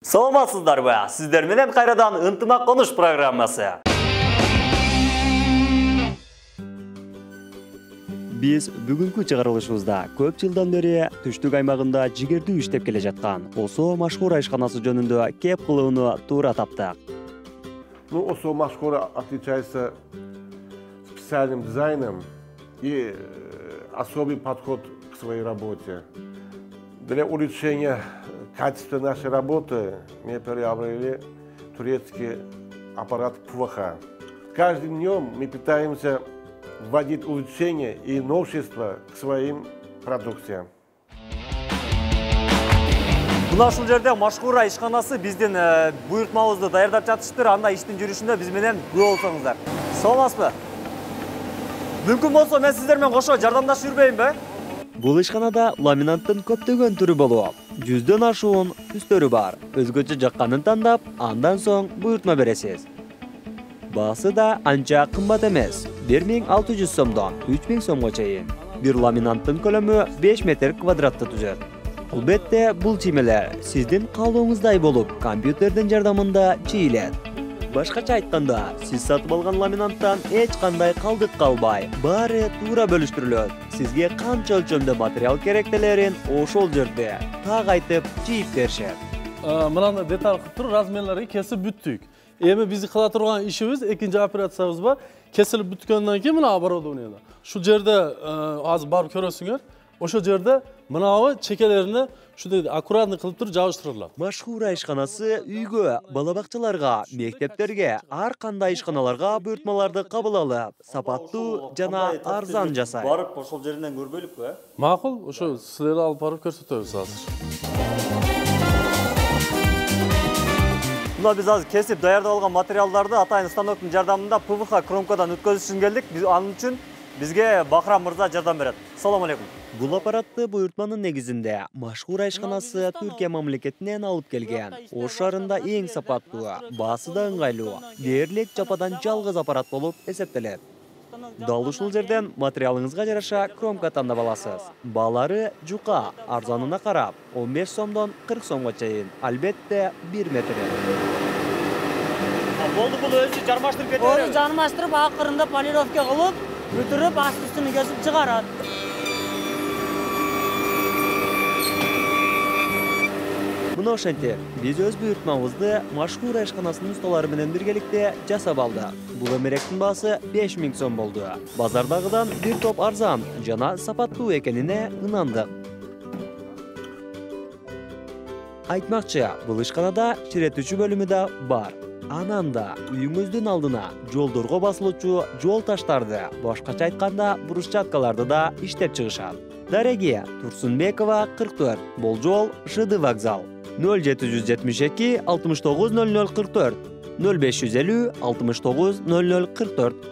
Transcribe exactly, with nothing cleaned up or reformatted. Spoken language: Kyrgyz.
Саламатсыздарбы? Сиздер менен кайрадан ынтымак конуш программасы. Биз бүгүнкү чыгарылышыбызда көп жылдан бери түштүк аймагында жигердүү иштеп келе жаткан Осо машгуур айшканасы жөнүндө кеп кылууну туура таптык. Ну, Осо машгуур отличается специальным дизайном и особый подход к своей работе. Для улучшения качества нашей работы мы приобрели турецкий аппарат ПВХ. Каждым днем мы пытаемся вводить улучшения и новшества к своим продукциям. Мына ушул жерде машгуур айшканасы биздин буйртмабызды даярдап жатыштыр. Анда иштин жүрүшүндө биз менен күбө болсоңуздар. Саламатсызбы? Мүмкүн болсо мен сиздер менен кошо жардамдашып жүрбөйүнбү? Бул ишканада ламинанттын көптөгөн түрү болуп, жүздөн ашуун түстөрү бар. Өзгөчө жакканын тандап, андан соң буйртма бересиз. Баасы да анча кымбат эмес. бир миң алты жүз сомдон үч миң сомго чейин. Бир ламинанттын көлөмү беш метр квадратты түзөт. Албетте, бул чиймелер сиздин каалооңуздай болуп, компьютердин жардамында чийилет. Башкача айтканда, сиз сатып алган ламинанттан эч кандай калдык калбай, баары туура бөлүштүрүлөт. Сизге канча өлчөмдө материал керектелерин ошол жерде так айтып чийип беришет. Мынаны деталь кылып туруп размерлерди кесип бүттүк. Эми биздин кыла турган ишибиз экинчи операциябыз бар. Кесилип бүткөндөн кийин мына оборудованияда. Ушул жерде азыр барып көрөсүңөр. Ошол жерде мынабы чекелерине ушундай аккуратный кылып туруп жабыштырылат. Машгуур айшканасы үйгө, бала бакчаларга, мектептерге, ар кандай ишканаларга буйртмаларды кабыл алып, сапаттуу жана арзан жасайт. Барып ошол жеринен көрбөйлүкпү, э? Макул, ошо силерди алып барып көрсөтөбүз азыр. Мына биз азыр кесип даярдап алган материалдарды атайын станоктун жардамында ПВХ кромкадан өткөзүш үчүн келдик. Биз анын үчүн бизге Бахрам мырза жардам берет. Салам алейкум. Бул аппаратты буйртманын негизинде машгуур айшканасы Түркия мамлекетинен алып келген. Ош шаарында эң сапаттуу, баасы да ыңгайлуу, дээрлик жападан жалгыз аппарат болуп эсептелет. Дал ушул жерден материалыңызга жараша кромка тандап аласыз. Баалары жука, арзанына карап, он беш сомдон кырк сомго чейин. Албетте бир метр. Болду, бул өзү жармаштырып кетет. Өзү жармаштырып, акырында полировка кылып, бүтүрүп, асты-үстүн кесип чыгарат. Мына ошентип, биз өз буйртмабызды машгуур айшканасынын усталары менен биргеликте жасап алдык. Бул эмеректин баасы беш миң сом болду. Базардагыдан бир топ арзан жана сапаттуу экенине ынандык. Айтмакчы, бул ишканада чиретүүчү бөлүмү да бар. Анан да үйүңүздүн алдына жолдорго басылуучу жол таштарды, башкача айтканда брусчаткаларды да иштеп чыгышат. Дареги Турсунбекова кырк төрт, Болжол, ШД вокзал. нөл жети жүз жетимиш эки алтымыш тогуз нөл нөл кырк төрт, нөл беш жүз элүү алтымыш тогуз нөл нөл кырк төрт.